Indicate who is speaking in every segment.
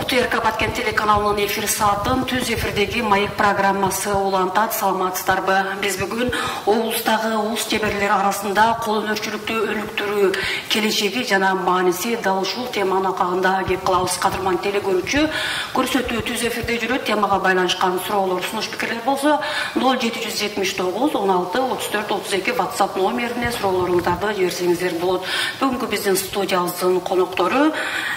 Speaker 1: ТРК Баткен телеканалынын эфир саатын түз эфирдеги маек программасы улантат. Саламатсыздарбы? Биз бүгүн облустагы улус жеберлер арасында кол өнөрчүлүктү өнүктүрүү келечеги жана мааниси дал ушул теманын акагында кеп кылабыз. Кадырман телекөрүүчү, көрсөтүү түз эфирде жүрөт. Темага байланышкан суроолор, сунуш пикирлер болсо 0779 16 34 32 WhatsApp номерине суроолоруңуздарды жиберсеңиздер болот. Бүгүнкү биздин студиябыздын коноктору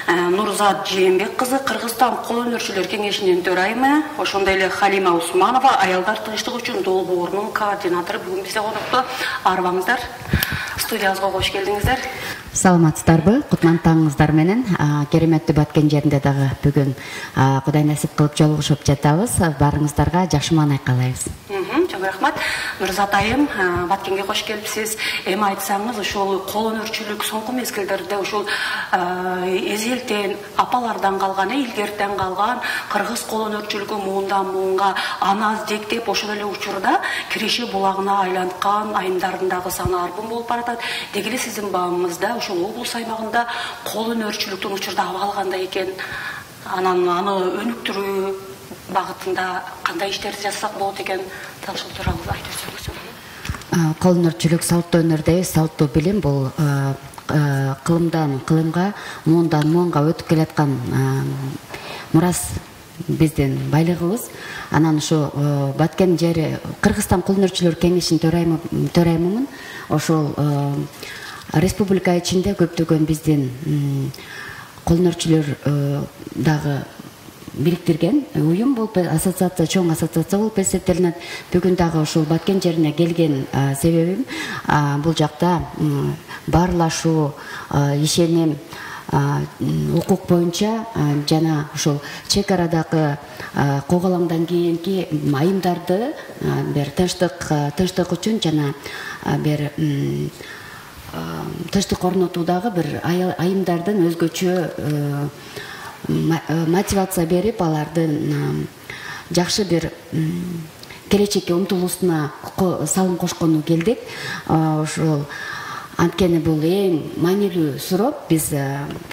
Speaker 1: Нурзат Жээнбек кызы, Кыргызстан кол өнөрчүлөр кеңешинин төрайымы, ошондой эле Халима Усманова, аялдар тынчтыгы үчүн долбоорунун координатору. Бүгүн бизде конокто. Арыбаңыздар. Студиябызга кош келдиңиздер.
Speaker 2: Саламатсыздарбы? Кутман таңыңыздар менен. Кереметтүү Баткен жеринде дагы бүгүн Кудай насип кылып жолугушуп жатабыз. Барыңыздарга жакшы маанай каалайбыз.
Speaker 1: Чоң рахмат. Нурзат айым, Баткенге кош келипсиз. Эми айтсаңыз, ошол кол өнөрчүлүк соңку мезгилдерде ошол эзелтен апалардан калган, илгертен калган кыргыз кол өнөрчүлүгү муундан муунга аны аздектеп, ошол эле учурда Киреше булагына айланткан айымдардын дагы саны арбын болуп баратат. Деги эле сиздин баамыңызда ошол облус аймагында кол өнөрчүлүктүн учурда абалы кандай экен, анан аны өнүктүрүү багытында кандай иштерди жасасак болот экен, дал ушул тууралуу айтып өтсөңүз.
Speaker 2: Кол өнөрчүлүк салттуу өнөрдөй салттуу билим бул кылымдан кылымга, муундан муунга өтүп келаткан мурас биздин байлыгыбыз. Анан ушу Баткен жери Кыргызстан кол өнөрчүлөр кеңешинин төрайымымын. Ошол республика ичинде көптөгөн биздин кол өнөрчүлөр дагы бириктирген уюм болуп, ассоциация, чоң ассоциация болуп эсептелинет. Бүгүн дагы ушул Баткен жерине келген себебим бул жакта баарлашуу, ишеним, укук боюнча жана ушул чек арадагы коголаңдан кийинки айымдарды бир тынчтык үчүн жана бир тынчтык орнотуудагы бир айымдардын өзгөчө мотивация берип, алардын жакшы бир келечекке умтулуусуна салым кошкону келдик. Ошол анткени бул эң маанилүү суроо. Биз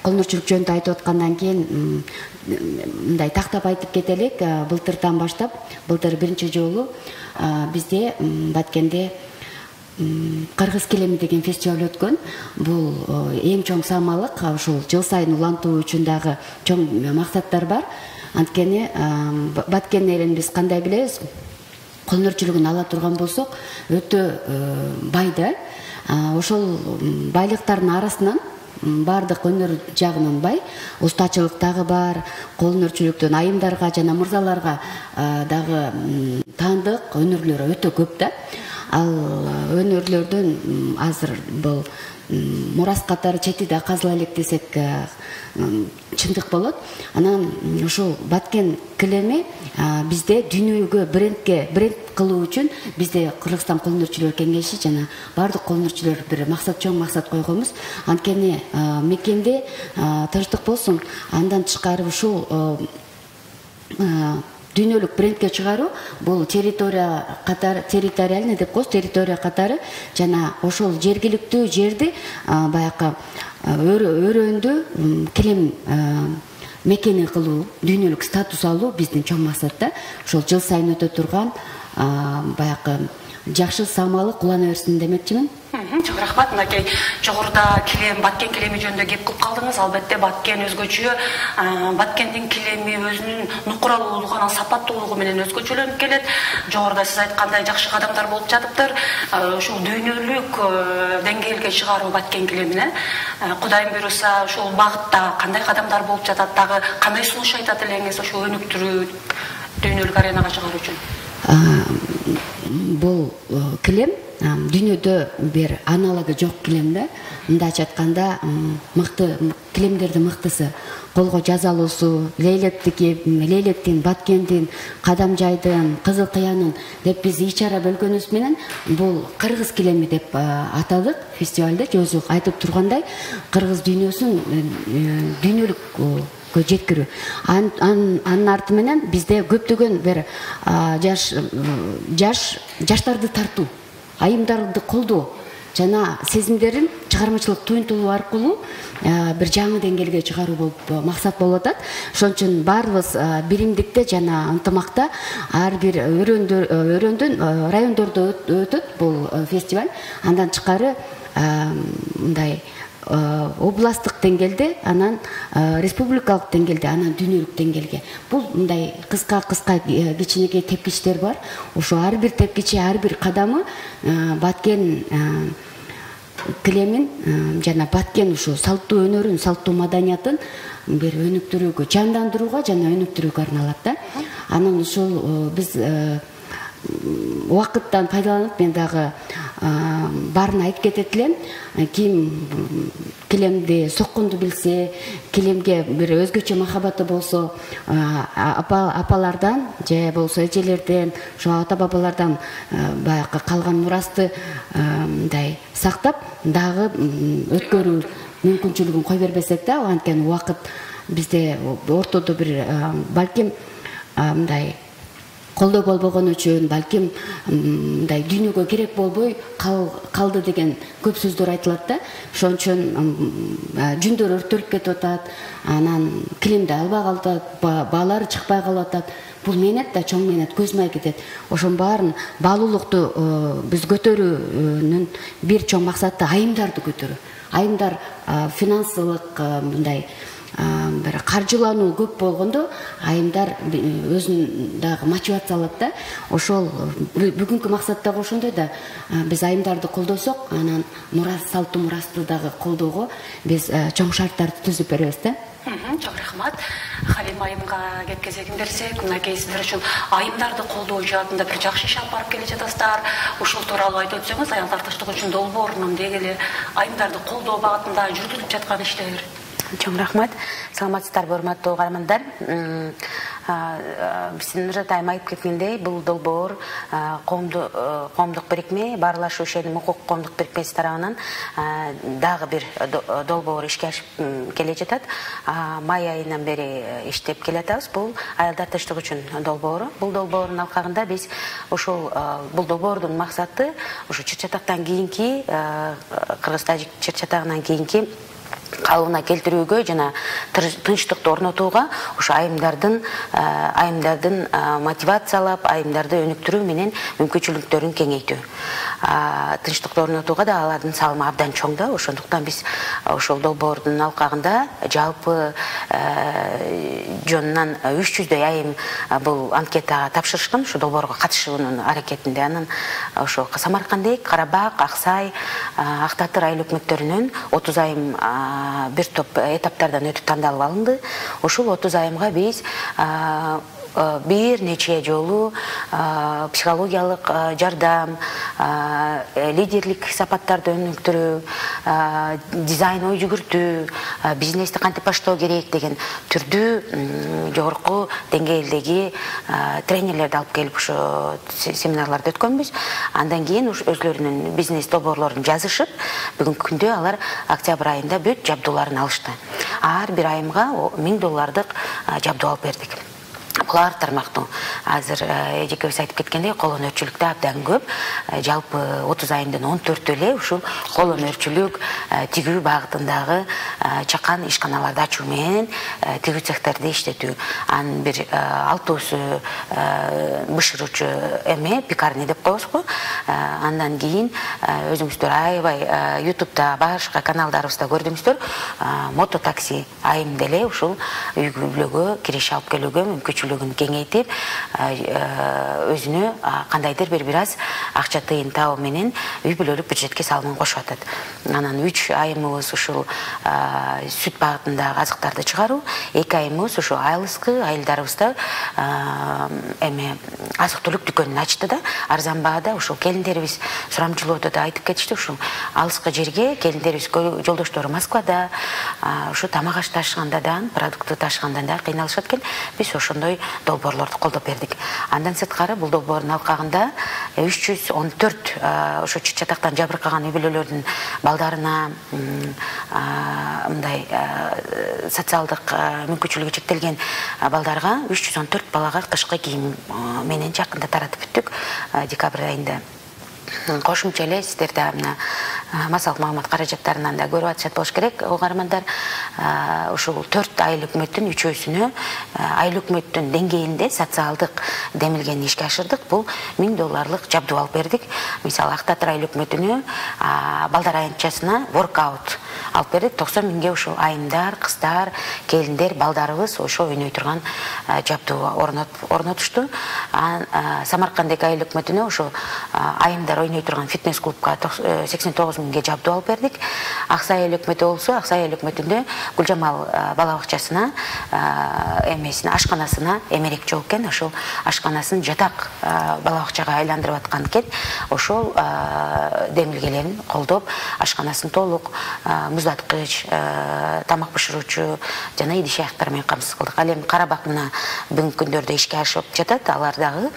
Speaker 2: кол өнөрчүлүк жөнүндө айтып аткандан кийин мындай тактап айтып кетелик. Былтырдан баштап, былтыр биринчи жолу бизде Баткенде Кыргыз килеми деген фестиваль өткөн. Бул эң чоң самалык. Ушул жыл сайын улантуу үчүн дагы чоң максаттар бар. Анткени Баткен элин биз кандай билебиз? Кол өнөрчүлүгүн ала турган болсок, өтө бай да. Ошол байлыктардын арасынан бардык өнөр жагынан бай, устачылык дагы бар. Кол өнөрчүлүктөн айымдарга жана мырзаларга дагы таандык өнөрлөр өтө көп да. Ал өнөрлөрдөн азыр бул мурас катары чети да казыла элек десек чындык болот. Анан ушул Баткен килеми бизде дүйнөгө бренд кылуу үчүн бизде Кыргызстан кол өнөрчүлөр кеңеши жана бардык кол өнөрчүлөр бир чоң максат койгонбуз. Анткени мекенде тынчтык болсун, андан тышкары ушул дүйнөлүк брендке чыгаруу бул территориальный деп коебуз, территория катары жана ошол жергиликтүү жерди баягы өрөөндү килем мекени кылуу, дүйнөлүк статус алуу биздин чоң максатта. Ошол жыл сайын өтө турган баягы жакшы самалык улана берсин демекчимин.
Speaker 1: Чоң рахмат. Мынакей жогоруда килем, Баткен килеми жөнүндө кеп кылып калдыңыз. Албетте Баткен өзгөчө. Баткендин килеми өзүнүн нукуралуулугу, анан сапаттуулугу менен өзгөчөлөнүп келет. Жогоруда сиз айткандай жакшы кадамдар болуп жатыптыр. Ушул дүйнөлүк деңгээлге чыгаруу Баткен килемине Кудайым буйруса ушул багытта кандай кадамдар болуп жатат, дагы кандай сунуш айтат элеңиз ошол өнүктүрүү дүйнөлүк аренага чыгаруу үчүн?
Speaker 2: Бул килем дүйнөдө бир аналогу жок килем да. Мындайча айтканда, мыкты килемдердин мыктысы. Колго жазалуусу, Лейлектин, Баткендин, Кадамжайдын, Кызыл Кыянын деп биз ичара бөлгөнүбүз менен бул кыргыз килеми деп атадык фестивалда. Өзү айтып тургандай, кыргыз дүйнөсүн дүйнөлүк жеткирүү. Анын арты менен бизде көптөгөн бир жаштарды тартуу, айымдарды колдоо жана сезимдерин чыгармачылык туюнтулуу аркылуу бир жаңы деңгээлге чыгаруу болуп максат болуп атат. Ошон үчүн баарыбыз биримдикте жана ынтымакта ар бир өрөөндөн райондордо өтөт бул фестиваль. Андан тышкары мындай областтык деңгээлде, анан республикалык деңгээлде, анан дүйнөлүк деңгээлге. Бул мындай кыска кичинекей тепкичтер бар. Ошо ар бир тепкичи, ар бир кадамы Баткен килемин жана Баткен ушу салттуу өнөрүн, салттуу маданиятын бир өнүктүрүүгө, жандандырууга жана өнүктүрүүгө арналат да. Анан ушул биз убакыттан пайдаланып мен дагы баарын айтып кетет элем. Ким килемди сокконду билсе, килемге бир өзгөчө махабаты болсо, апалардан же болсо эжелерден, ошо ата бабалардан баягы калган мурасты мындай сактап дагы өткөрүү мүмкүнчүлүгүн кой бербесек да, анткени убакыт бизде ортодо бир балким мындай колдоо болбогон үчүн, балким мындай дүйнөгө керек болбой калды деген көп сөздөр айтылат да. Ошон үчүн жүндөр өртөлүп кетип атат, анан килемди албай калат, баалары чыкпай калып атат. Бул мээнет да, чоң мээнет, көз май кетет. Ошон баарын баалуулукту биз көтөрүүнүн бир чоң максаты айымдарды көтөрүү. Айымдар финансылык мындай бир каржылануу көп болгондо айымдар өзүн дагы мотивация алат да. Ошол бүгүнкү максат дагы ошондой да. Биз айымдарды колдосок, анан салттуу мурасты дагы колдоого биз чоң шарттарды түзүп беребиз да.
Speaker 1: Чоң рахмат. Халим айымга кеп кезегин берсек, мынакей сиздер үчүн айымдарды колдоо жаатында бир жакшы иш алып барып келе жатасыздар. Ушул тууралуу айтып өтсөңүз, аялдар тынчтыгы үчүн долбоорунун деги айымдарды колдоо багытында жүргүзүлүп жаткан иштер.
Speaker 3: Чоң рахмат. Саламатсыздарбы, урматтуу угармандар. Биздин Нуржат айым айтып кеткендей, бул долбоор коомдук бирикме, Баарлашуу ишеним укук коомдук бирикмеси тарабынан дагы бир долбоор ишке ашып келе жатат. Май айынан бери иштеп келатабыз. Бул аялдар тынчтыгы үчүн долбоору. Бул долбоордун алкагында биз ошол бул долбоордун максаты ошо чыр-чатактан кийинки, кыргыз-тажик чыр-чатагынан кийинки калыбына келтирүүгө жана тынчтыкты орнотууга, ошо айымдардын мотивациялап, айымдарды өнүктүрүү менен мүмкүнчүлүктөрүн кеңейтүү. Тынчтыкты орнотууга да алардын салымы абдан чоң да. Ошондуктан биз ошол долбоордун алкагында жалпы жонунан 300дөй айым бул анкетага тапшырышкан, ошо долбоорго катышуунун аракетинде. Анан ошо Самаркандек, Карабак, Аксай, Ак Татыр айыл өкмөттөрүнөн 30 айым бир топ этаптардан өтүп тандалып алынды. Ошол 30 айымга биз бир нече жолу психологиялык жардам, лидерлик сапаттарды өнүктүрүү, дизайн ой жүгүртүү, бизнести кантип баштоо керек деген түрдүү жогорку деңгээлдеги тренерлерди алып келип ошо семинарларды өткөнбүз. Андан кийин өзлөрүнүн бизнес долбоорлорун жазышып, бүгүнкү күндө алар октябрь айында бүт жабдууларын алышты. Ар бир айымга $1000 жабдуу алып бердик. Булар тармактуу. Азыр эжекебиз айтып кеткендей, кол өнөрчүлүктө абдан көп. Жалпы 30 айымдын 14 эле ушул кол өнөрчүлүк, тигүү багытындагы чакан ишканаларды ачуу менен тигүү цехтерди иштетүү. Анын бир 6-сы бышыруучу эме, пекарня деп коебуз го. Андан кийин өзүңүздөр аябай YouTube'да башка каналдарыбызда көрдүңүздөр, мототакси айым деле ушул үй-бүлөгө кириш алып келүүгө мүмкүнчүлүк кеңейтип, өзүнө кандайдыр бир аз акча тыйын табуу менен үй-бүлөлүк бюджетке салымын кошуп атат. Анан 3 айымыбыз ушул сүт багытындагы азыктарды чыгаруу, 2 айымыбыз ушул айылыскы айылдарыбызда эме азык-түлүк дүкөнүн ачты да, арзан баада. Ушул келиндерибиз сурамчылоодо да айтып кетишти, ушул алыскы жерге келиндерибиз жолдоштору Москвада, ушу тамак аш ташыганда да, продукты ташыганда да кыйналышат экен. Биз ошондой долбоорлорду колдоп бердик. Андан сырткары бул долбоордун алкагында 314 ошо чыр-чатактан жабыркаган үй-бүлөлөрдүн балдарына, мындай социалдык мүмкүнчүлүгү чектелген балдарга 314 балага кышкы кийим менен жакында таратып бүттүк декабрь айында. Кошумча эле сиздерде мына массалык маалымат каражаттарынан да көрүп атышат болуш керек. Угармандар, ушул 4 айыл өкмөттүн 3-өсүнө айыл өкмөттүн деңгээлинде социалдык демилгени ишке ашырдык. Бул $1000 жабдуу алып бердик. Мисалы, Ак Татыр айыл өкмөтүнө балдар аянтчасына воркаут алып бердик. 90 миңге ушул айымдар, кыздар, келиндер, балдарыбыз ошо ойной турган жабдуу орнотушту. Самарканддагы айыл өкмөтүнө ошо айымдар ойной турган фитнес клубка 89 миңге жабдуу алып бердик. Аксай айыл өкмөтү болсо, Аксай айыл өкмөтүндө Гүлжамал бала бакчасына ашканасына эмерек жок экен. Ошол ашканасын жатак бала бакчага айландырып аткан экен. Ошол демилгелерин колдоп, ашканасын толук муздаткыч, тамак бышыруучу жана идиш аяктар менен камсыз кылдык. Ал эми Карабак мына бүгүнкү күндөрдө ишке ашып жатат. Алар дагы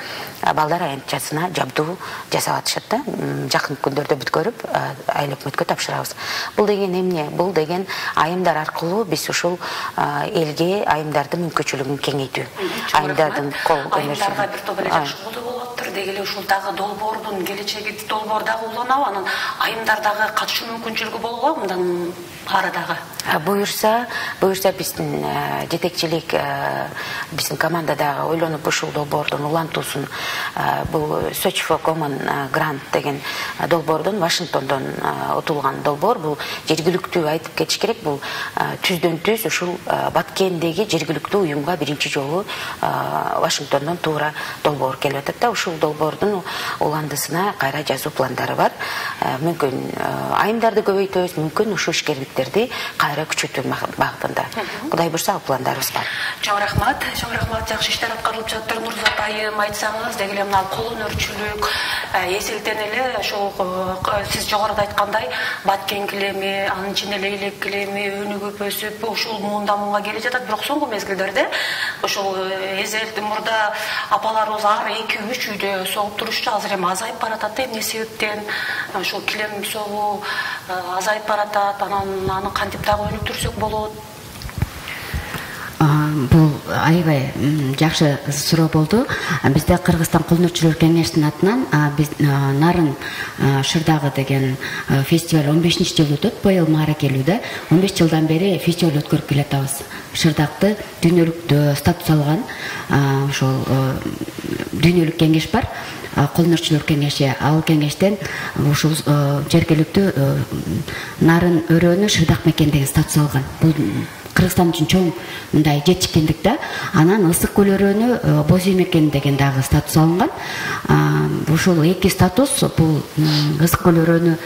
Speaker 3: балдар аянтчасына жабдуу жасап атышат да. Жакын күндөрдө бүткөрүп айыл өкмөткө тапшырабыз. Бул деген эмне? Бул деген айымдар аркылуу биз ушул элге айымдардын мүмкүнчүлүгүн кеңейтүү. Айымдардын кол
Speaker 1: айымдарга бир топ эле жакшы болуп болуптур. Деги эле ушул дагы долбоордун келечеги, долбоор дагы уланабы? Анан айымдар дагы катышуу мүмкүнчүлүгү болобу мындан ары дагы?
Speaker 3: Буюрса биздин жетекчилик, биздин командадагы ойлонуп ушул долбоордун улантуусун, бул Search for Common Grant деген долбоордон Вашингтондон утулган долбоор. Бул жергиликтүү айтып кетиш керек. Бул түздөн-түз ушул Баткендеги жергиликтүү уюмга биринчи жолу Вашингтондон туура долбоор келип атат да. Ушул долбоордун уландысына кайра жазуу пландары бар. Мүмкүн айымдарды көбөйтөбүз, мүмкүн ушул ишкерликтерди кайра күчөтүү багытында. Кудай буйрса пландарыбыз бар.
Speaker 1: Чоң рахмат, жакшы иштер аткарылып жатыр. Нурзат айым, айтсаңыз, деги эле мына кол өнөрчүлүк эсилтен эле ошол сиз жогоруда айткандай баткен килеми, анын ичинде лейлек килеми, өнүгүп өсүп ушул муунда келе жатат. Бирок соңку мезгилдерде ошол эзелди мурда апаларыбыз ар 2-3 үйдө согуп турушчу. Азыр эми азайып баратат да. Эмне себептен ошол килем согуу азайып баратат? Анан аны кантип дагы өнүктүрсөк болот?
Speaker 2: Бул аябай жакшы суроо болду. Бизде Кыргызстан кол өнөрчүлөр кеңешинин атынан биз Нарын Шырдагы деген фестиваль 15-жыл өтөт. Быйыл мааракелүүдө 15 жылдан бери фестиваль өткөрүп келатабыз. Шырдакты дүйнөлүк статус алган ошол дүйнөлүк кеңеш бар. Кол өнөрчүлөр кеңеши. Ал кеңештен ушул жергиликтүү Нарын өрөөнү Шырдак мекен деген статус алган. Бул Кыргызстан үчүн чоң мындай жетишкендик да. Анан Ысык көл өрөөнү Боз үй мекен деген дагы статус алынган. Ушул эки статус, бул Ысык көл өрөөнү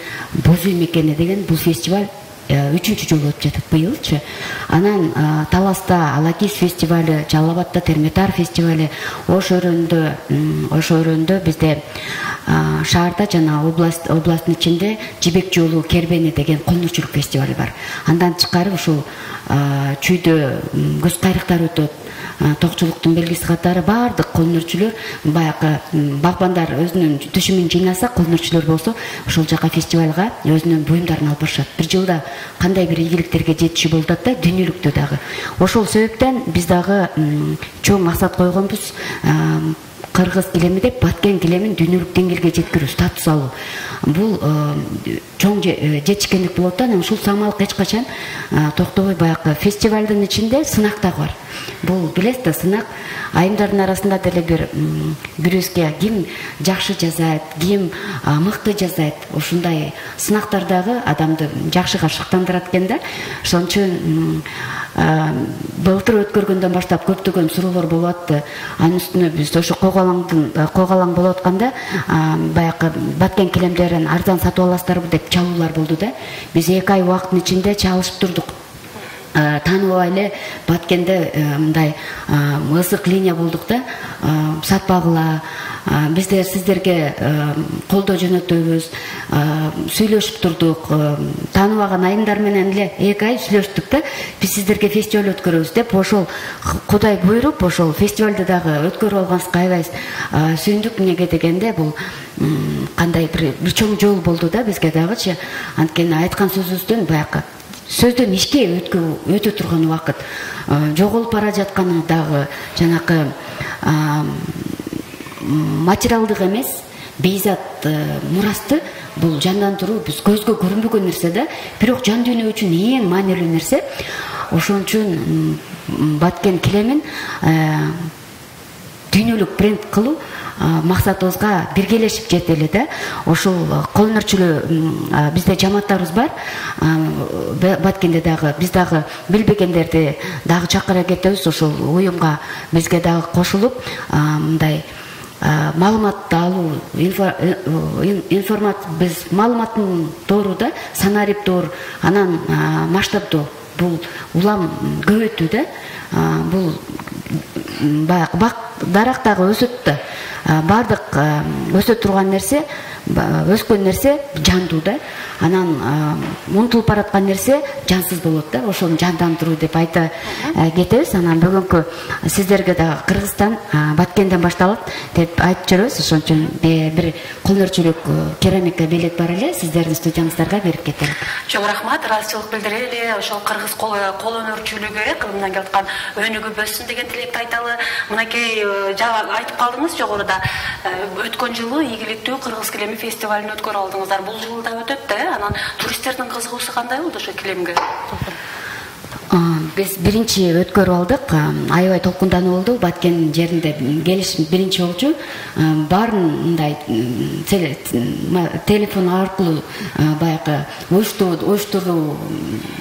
Speaker 2: Боз үй мекени деген бул фестиваль 3-чү жолу өтүп жатат быйылчы. Анан Таласта Алакис фестивали, Жалал Абадта Терметар фестивали, Ош өрөөндө бизде шаарда жана областтын ичинде Жибек жолу Кербени деген кол өнөрчүлүк фестивали бар. Андан тышкары ушул чүйдө көз кайрыктар өтөт. Токчулуктун белгиси катары баардык кол өнөрчүлөр, баягы багбандар өзүнүн түшүмүн жыйнаса, кол өнөрчүлөр болсо ошол жака фестивалга өзүнүн буюмдарын алып барышат. Бир жылда кандай бир ийгиликтерге жетишүү болуп атат да, дүйнөлүктө дагы. Ошол себептен биз дагы чоң максат койгонбуз. Кыргыз килеми деп Баткен килемин дүйнөлүк деңгээлге жеткирүү, статус алуу. Бул чоң жетишкендик болот да. Ушул самалык эч качан токтобой, баягы фестивалдын ичинде сынак дагы бар. Бул билесиз да, сынак айымдардын арасында деле бирөөсүгө ким жакшы жазайт, ким мыкты жазайт. Ушундай сынактар дагы адамды жакшыга шыктандырат экен да. Ошон үчүн былтыр өткөргөндөн баштап көптөгөн суроолор болуп атты. Анын үстүнө биз ошо койгалаң болуп атканда баягы Баткен килемдерин арзан сатып аласыздарбы деп чалуулар болду да. Биз 2 ай убакыттын ичинде чалышып турдук. Тааныбай эле Баткенде мындай ысык линия болдук да. Сатпагыла, биздер сиздерге колдоо жөнөтөбүз, сүйлөшүп турдук. Тааныбаган айымдар менен эле 2 ай сүйлөштүк да. Биз сиздерге фестиваль өткөрөбүз деп, ошол Кудай буйруп, ошол фестивалды дагы өткөрүп алганыбызга аябай сүйүндүк. Эмнеге дегенде, бул кандай бир чоң жол болду да бизге дагычы. Анткени айткан сөзүбүздөн баягы сөздөн ишке өтө турган убакыт жоголуп бара жатканы дагы жанакы материалдык эмес, бейзат мурасты бул жандандыруу биз көзгө көрүнбөгөн нерсе да, бирок жан дүйнө үчүн эң маанилүү нерсе. Ошон үчүн Баткен килемин дүйнөлүк бренд кылуу максатыбызга биргелешип жетели да. Ошол кол өнөрчүлүү бизде жамааттарыбыз бар. Баткенде дагы биз дагы билбегендерди дагы чакыра кетебиз. Ошол уюмга бизге дагы кошулуп мындай маалыматты алуу, информация биз маалыматтын тоору да, санариптор, анан масштабдоо, бул улам көбөйтүү да. Бул бак дарак дагы өсөт да. Бардык өсө турган нерсе, өскөн нерсе жандуу да. Анан умтулуп бараткан нерсе жансыз болот да. Ошону жандандыруу деп айта кетебиз. Анан бүгүнкү сиздерге дагы Кыргызстан Баткенден башталат деп айтып жүрөбүз. Ошон үчүн бир кол өнөрчүлүк керамика белек бар эле, сиздердин студиябыздарга берип кетелик.
Speaker 1: Чоң рахмат, ыраазычылык билдирели. Ошол кыргыз кол өнөрчүлүгү кылымдан келип аткан өнүгүп өссүн деген тилекти айталы. Мынакей айтып калдыңыз жогоруда, өткөн жылы ийгиликтүү Кыргыз килеми фестивалын өткөрүп алдыңыздар. Бул жылы да өтөт да. Анан туристтердин кызыгуусу кандай болду ошо килемге?
Speaker 2: Биз биринчи өткөрүп алдык. Аябай толкундануу болду. Баткен жеринде келиш биринчи болчу. Баарын мындай телефон аркылуу баягы оюштуруу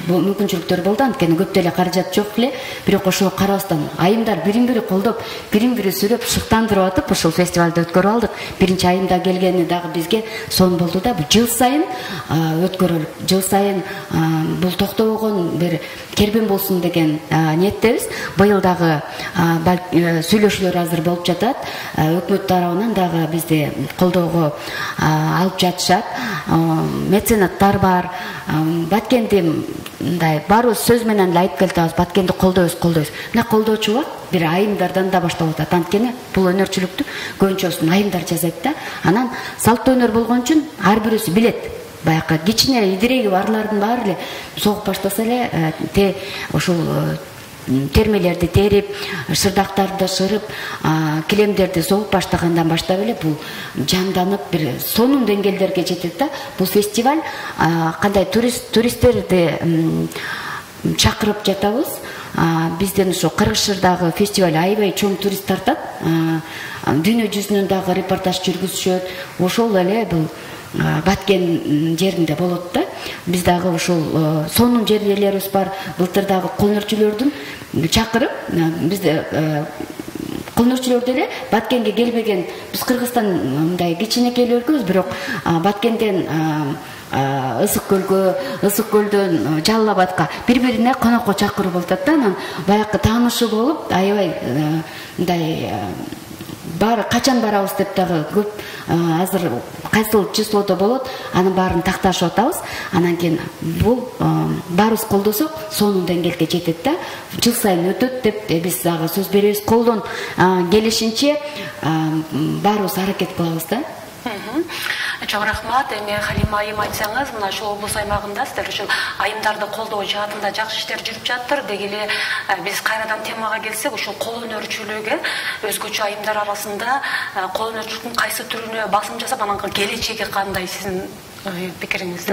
Speaker 2: мүмкүнчүлүктөр болду. Анткени көп деле каражат жок эле. Бирок ошого карабастан айымдар бирин-бири колдоп, бирин-бири сүйлөп, шыктандырып атып ошол фестивалды өткөрүп алдык. Биринчи айымда келгени дагы бизге сон болду да. Бул жыл сайын өткөрүлүп, жыл сайын бул токтобогон бир кербен болсун деген ниеттебиз. Быйыл дагы сүйлөшүүлөр азыр болуп жатат. Өкмөт тарабынан дагы бизди колдоого алып жатышат. Меценаттар бар. Баткенди мындай баарыбыз сөз менен эле айтып келатабыз, Баткенди колдойбуз. Мына колдоочу бар, бир айымдардан да башталып атат. Анткени бул өнөрчүлүктү көбүнчөсүн айымдар жасайт да. Анан салттуу өнөр болгон үчүн ар бирөөсү билет. Баягы кичине идиреги барлардын баары эле согуп баштаса эле ошол термелерди терип, шырдактарды шырып, килемдерди согуп баштагандан баштап эле бул жанданып бир сонун деңгээлдерге жетет да. Бул фестиваль кандай туристтерди чакырып жатабыз. Бизден ошо Кыргызчырдагы фестиваль аябай чоң турист тартат. Дүйнө жүзүнөн дагы репортаж жүргүзүшөт. Ошол эле бул Баткен жеринде болот да. Биз дагы ушул сонун жерлерибиз бар. Былтыр дагы кол өнөрчүлөрдүн чакырып, бизде кол өнөрчүлөр деле Баткенге келбеген, биз Кыргызстан мындай кичинекей өлкөбүз, бирок Баткенден Ысык көлдөн Жалал Абадка бири-бирине конокко чакырып болуп атат да. Анан баягы таанышуу болуп, аябай мындай баары качан барабыз деп дагы көп азыр кайсыл числодо болот, анын баарын такташып атабыз. Анан кийин бул баарыбыз колдосок сонун деңгээлге жетет да. Жыл сайын өтөт деп биз дагы сөз беребиз. Колдон келишинче баарыбыз аракет кылабыз да.
Speaker 1: Чоң рахмат. Эми Халима айым айтсаңыз, мына ошол облус аймагында сиздер ушул айымдарды колдоо жаатында жакшы иштер жүрүп жатыр. Деги эле биз кайрадан темага келсек, ушул кол өнөрчүлүгү өзгөчө айымдар арасында кол өнөрчүлүктүн кайсы түрүнө басым жасап, анан келечеги кандай сиздин пикириңиз?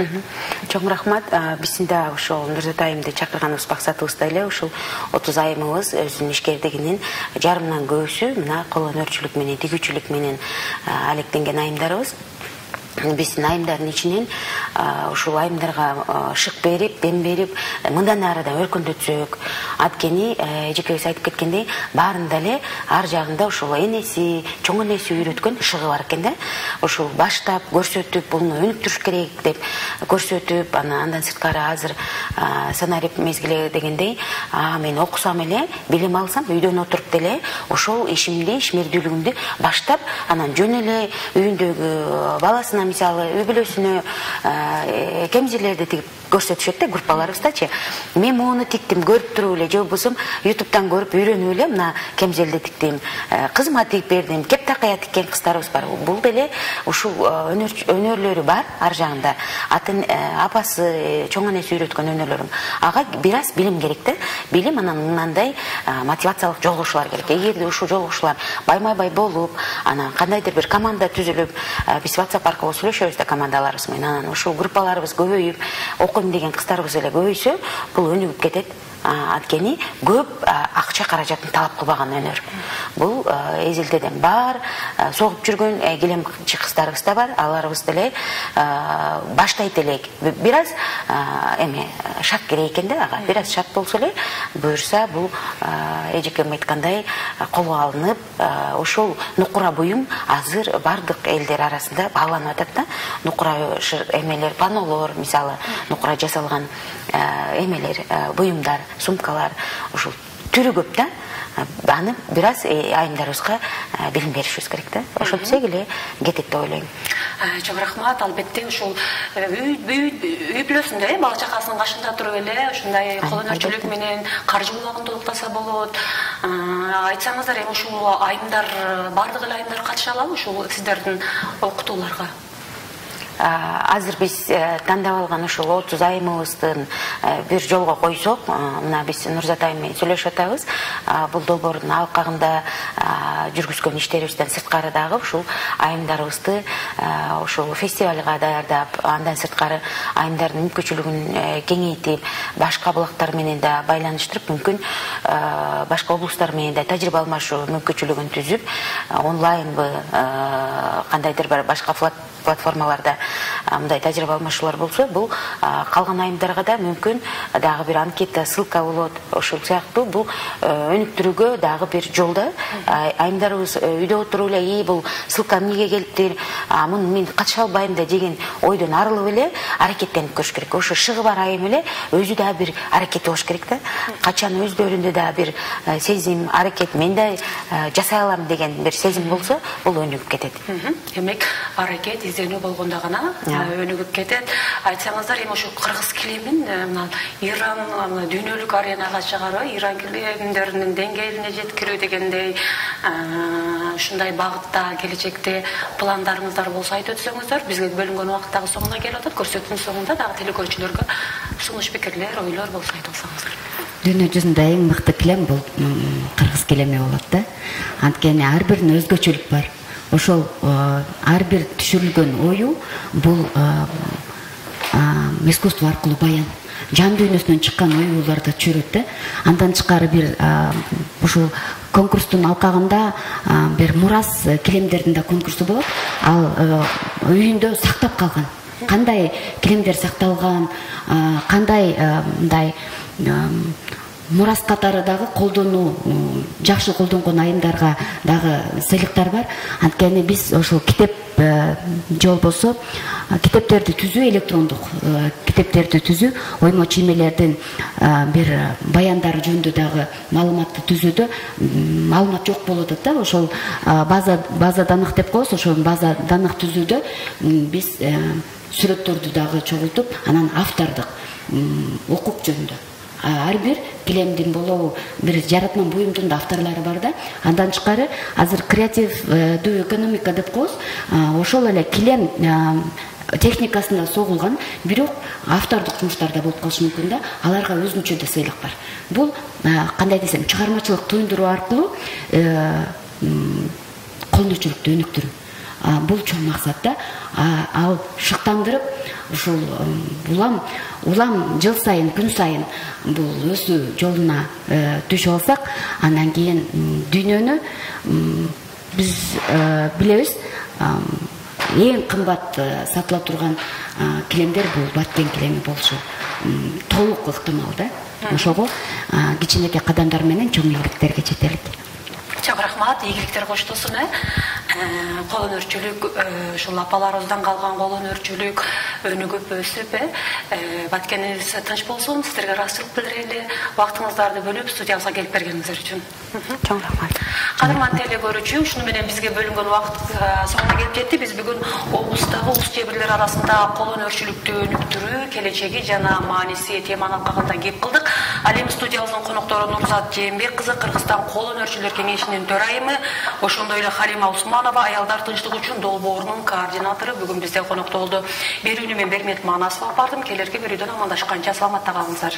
Speaker 3: Чоң рахмат. Биздин да ошол Нурзат айымды чакырганыбыз максатыбыз да эле ушул 30 айымыбыз өзүнүн ишкердигинин жарымынан көбүсү мына кол өнөрчүлүк менен, тигүүчүлүк менен алектенген айымдарыбыз. Биздин айымдардын ичинен ушул айымдарга шык берип, дем берип, мындан ары да өркүндөтсөк, анткени эжекебиз айтып кеткендей, баарында эле ар жагында ушул энеси, чоң энеси үйрөткөн шыгы бар экен да. Ушул баштап көрсөтүп, буну өнүктүрүш керек деп көрсөтүп, андан сырткары азыр санарип мезгили дегендей, мен окусам эле, билим алсам, үйдөн отуруп деле ошол ишимди, ишмердүүлүгүмдү баштап, анан жөн эле үйүндөгү баласына мисалы үй бүлөсүнө кемзелерди тигип көрсөтүшөт да группаларыбыздачы. Мен муну тиктим, көрүп туруп эле, же болбосо YouTube'дан көрүп үйрөнүп эле мына кемзелди тиктим, кызыма тигип бердим, кептакая тиккен кыздарыбыз бар. Бул деле ушул өнөрлөрү бар ар жагында. Атын апасы, чоң энеси үйрөткөн өнөрлөрүм. Ага бир аз билим керек да. Билим анан мындай мотивациялык жолугушуулар керек. Эгерде ушул жолугушуулар байма-бай болуп, анан кандайдыр бир команда түзүлүп, биз WhatsApp аркылуу сүйлөшөбүз да командаларыбыз менен. Анан ушул группаларыбыз көбөйүп, окуйм деген кыздарыбыз эле көбөйсө, бул өнүгүп кетет. Анткени көп акча каражатын талап кылбаган өнөр. Бул эзелдеден бар, согуп жүргөн килемчи кыздарыбыз да бар. Аларыбыз деле баштайт элек. Бир аз шарт керек экен да, ага. Бир аз шарт болсо эле, буюрса бул эжекем айткандай колго алынып, ошол нукура буюм азыр бардык элдер арасында бааланып атат да. Нукура эмелер, панолор, мисалы, нукура жасалган эмелер, буюмдар, сумкалар, ушул түрү көп да. Аны бир аз айымдарыбызга билим беришибиз керек да. Ошентсек эле кетет деп ойлойм.
Speaker 1: Чоң рахмат. Албетте ушул үй бүлөсүндө бала чакасынын кашында туруп эле ушундай кол өнөрчүлүк менен каржы булагын толуктаса болот. Айтсаңыздар, ушул айымдар, бардык эле айымдар катыша алабы ушул сиздердин окутууларга?
Speaker 3: Азыр биз тандап алган ушул 30 айымыбыздын бир жолго койсок, мына биз Нурзат айым менен сүйлөшүп атабыз. Бул долбоордун алкагында жүргүзгөн иштерибизден сырткары дагы ушул айымдарыбызды ушул фестивалга даярдап, андан сырткары айымдардын мүмкүнчүлүгүн кеңейтип, башка булактар менен да байланыштырып, мүмкүн башка облустар менен да тажрыйба алмашуу мүмкүнчүлүгүн түзүп, онлайнбы, кандайдыр бир башка платформаларда мындай тажрыйба алмашуулар болсо, бул калган айымдарга да мүмкүн дагы бир анкета, ссылка болот. Ошол сыяктуу бул өнүктүрүүгө дагы бир жол да. Айымдарыбыз үйдө отуруп эле, бул ссылка эмнеге келиптир, муну мен катыша албайм да деген ойдон арылып эле аракеттенип көрүш керек. Ошо шыгы бар айым эле өзү да бир аракет болуш керек да. Качан өздөрүндө да бир сезим, аракет, мен да жасай алам деген бир сезим болсо, бул өнүгүп кетет.
Speaker 1: Демек, аракет изденүү болгондо гана өнүгүп кетет. Айтсаңыздар, эми ошо кыргыз килемин мына Иран дүйнөлүк аренага чыгаруу, Иран килемдеринин деңгээлине жеткирүү дегендей ушундай багытта келечекте пландарыңыздар болсо айтып өтсөңүздөр. Бизге бөлүнгөн убакыт дагы соңуна келип атат. Көрсөтүүнүн соңунда дагы телекөрүүчүлөргө сунуш пикирлер, ойлор болсо айтып алсаңыздар.
Speaker 2: Дүйнө жүзүндө эң мыкты килем бул кыргыз килеми болот да. Анткени ар биринин өзгөчөлүк бар. Ошол ар бир түшүрүлгөн ою бул искусство аркылуу баян. Жан дүйнөсүнөн чыккан оюларды түшүрөт да. Андан тышкары бир ушул конкурстун алкагында бир мурас килемдердин да конкурсу болот. Ал үйүндө сактап калган. Кандай килемдер сакталган, кандай мындай мурас катары дагы колдонуу, жакшы колдонгон айымдарга дагы сыйлыктар бар. Анткени биз ошол китеп же болбосо китептерди түзүү, электрондук китептерди түзүү, оймо чиймелердин бир баяндары жөнүндө дагы маалыматты түзүүдө маалымат жок болуп атат да. Ошол база даных деп коебуз, ошол база даных түзүүдө биз сүрөттөрдү дагы чогултуп, анан автордук укук жөнүндө ар бир килемдин болобу, бир жаратма буюмдун да авторлору бар да. Андан тышкары азыр креативдүү экономика деп коебуз. Ошол эле килем техникасында согулган, бирок автордук жумуштар да болуп калышы мүмкүн да. Аларга өзүнчө да сыйлык бар. Бул кандай десем, чыгармачылык туюндуруу аркылуу кол өнөрчүлүктү өнүктүрүү. Бул чоң максат да. Ал шыктандырып, ушул улам жыл сайын, күн сайын бул өсүү жолуна түшүп алсак, андан кийин дүйнөнү биз билебиз, эң кымбат сатыла турган килемдер бул Баткен килеми болушу толук ыктымал да. Ошого кичинекей кадамдар менен чоң ийгиликтерге жетелик.
Speaker 1: Чоң рахмат, ийгиликтер коштосун. кол өнөрчүлүк ушул апаларыбыздан калган кол өнөрчүлүк өнүгүп өсүп баткениңиз тынч болсун. Сиздерге ыраазычылык билдирели, убактыңыздарды бөлүп студиябызга келип бергениңиздер үчүн.
Speaker 3: Чоң рахмат.
Speaker 1: Кадырман теле көрүүчү, ушуну менен бизге бөлүнгөн убакыт соңуна келип жетти. Биз бүгүн облустагы улус жебирлер арасында кол өнөрчүлүктү өнүктүрүү келечеги жана мааниси теманын алкагында кеп кылдык. Ал эми студиябыздын коноктору Нурзат Жээнбек кызы, Кыргызстан кол өнөрчүлөр кеңешинин төрайымы, ошондой эле Халима Усманова, аялдар тынчтыгы үчүн долбоорунун координатору бүгүн бизде конокто болду. Берүүнү мен Бермет Манасова бардым. Келерки берүүдөн амандашканча саламатта калыңыздар.